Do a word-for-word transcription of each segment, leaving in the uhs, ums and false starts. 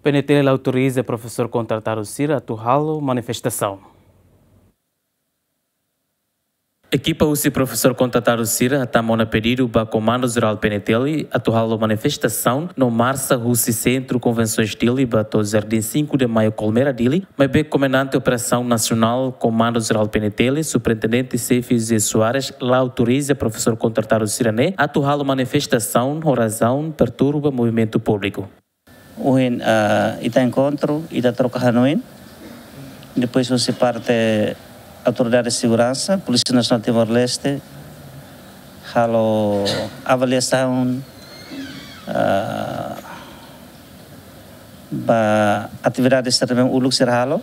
PNTL la autoriza profesór kontratadu sira atu halo manifestasaun. Ekipa husi profesór kontratadu sira hatama ona pedidu ba Komandu Jerál PNTL atu halo manifestasaun no marsa husi Sentru Konvensoens Dili ba to'o Jardim cinco de Maio Colmera Dili, maibé Komandante Operasaun Nasionál Komandu Jerál PNTL, Superintendente Xefe José Soares, la autoriza profesór kontratadu sira-ne'e atu halo manifestasaun ho razaun perturba movimentu públiku. Ohin, ah, ita enkontru, ita troka hanoin. Depois husi parte Autoridade de Segurança, Polísia Nasionál Timor-Leste, halo avaliasaun, ah, ba atividade sira ne'ebé uluk sira halo.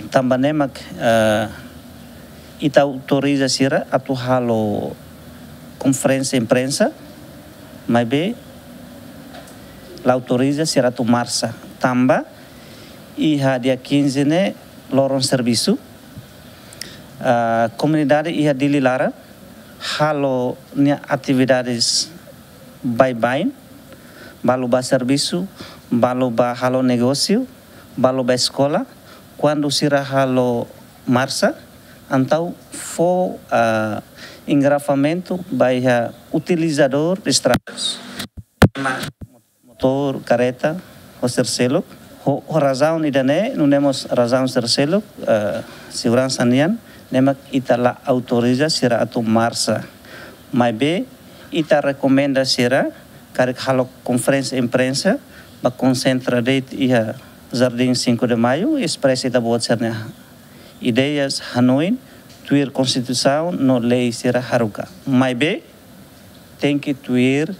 Tanba ne'e mak, eh, ita autoriza sira atu halo konferénsia imprensa, maibé la autoriza sira atu marsa. Tanba iha dia quinze ne'e loron servisu, eh, komunidade iha Dili laran halo nia atividades baibain, balu ba servisu, balu ba halo negósiu, balu ba eskola. Kuandu sira halo marsa, entaun fó, ah, engarrafamentu ba iha utilizadór de estradas, motór, kareta, ho sira seluk. Ho, ho razaun ida-ne'e, nune'e mós razaun sira seluk, eh, seguransa nian, ne'e mak ita la autoriza sira atu marsa. Maibé, ita rekomenda sira, karik halo konferénsia imprensa, ba konsentra de'it iha Jardim cinco de Maio, espresa ita-boot sira-nia ideias, hanoin, tuir konstituisaun no lei sira haruka. Maibé, tenke tuir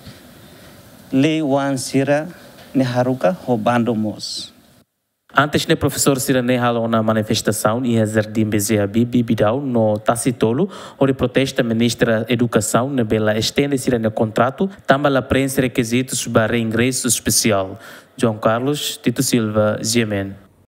lei-oan sira-ne'e haruka ho bandu mós. Antes ne'e profesór sira-ne'e halo ona manifestasaun iha Jardim B J Habibie Bidau no Tasi Tolu, hodi protesta Ministra Edukasaun ne'ebé la estende sira-nia kontratu, tanba la prenxe rekizitus ba reingresu espesiál. João Carlos, Tito Silva, G M N.